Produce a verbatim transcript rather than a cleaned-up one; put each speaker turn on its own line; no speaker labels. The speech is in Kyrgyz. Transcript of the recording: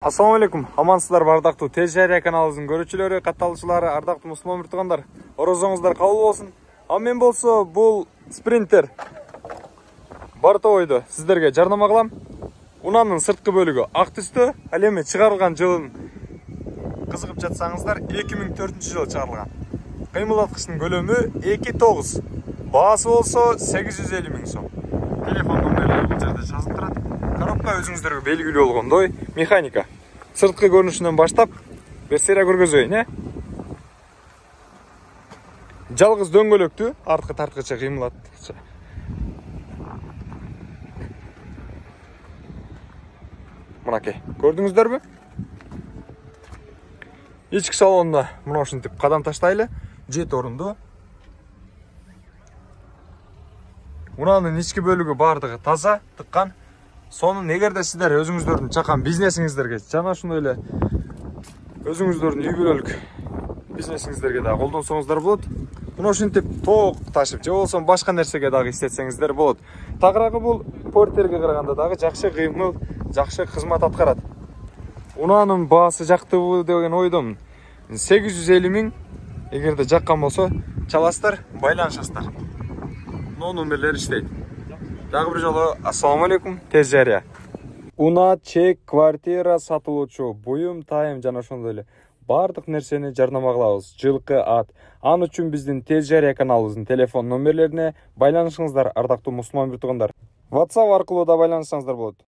Assalamu alaikum. Амансыздар бардактуу Тез Жария каналыбыздын көрүүчүлөрү, катталуучулары, ардактуу мусулман муртугандар. Орозоңуздар кабыл болсун. А мен болсо бул спринтер бортовойду сиздерге жарнама кылам. Унаанын сырткы бөлүгү ак түстө, ал эми чыгарылган жылын кызыгып жатсаңыздар эки миң төртүнчү жылы чыгарылган. Кыймылдаткычтын көлөмү эки тогуз. Баасы болсо сегиз жүз элүү миң сом. Телефон номерлери бул жерде жазылып турат. Коробка өзүңүздөргө белгилүү болгондой механика. Сырткы көрүнүшүнөн баштап берсерия көргөзөйүн, э? Жалгыз дөңгөлөктү арткы тарткычы кыймылдаткычы. Мынакей, көрдүңүздөрбү? Ички салонуна мына ушинтип кадам таштайлы, жети орунду. Унаанын ички бөлүгү бардыгы таза, тыккан. Сонун эгерде сиздер өзүңүздөрдүн чакан бизнесиңиздерге жана ошондой эле өзүңүздөрдүн үй бүлөлүк бизнесиңиздерге дагы колдонсоңуздар болот. Мына ушинтип тоок ташып же болбосо башка нерсеге дагы иштетсеңиздер болот. Тагыраагы бул портерге караганда дагы жакшы кыймыл, жакшы кызмат аткарат. Унаанын баасы жактыбы деген ойдомун. сегиз жүз элүү миң. Эгерде жаккан болсо чаласыздар, байланышасыздар. Но номерлер иштейт. Дагы бир жолу ассаламу алейкум, Тез Жария. Унаа, чек, квартира сатылуучу, буюм, тайым жана ошондой эле бардык нерсени жарнама кылабыз. Жылкы, ат. Ал үчүн биздин Тез Жария каналыбыздын телефон номерлерине байланышыңыздар, ардактуу мусулман муртугандар. WhatsApp аркылуу да байланышсаңыздар болот.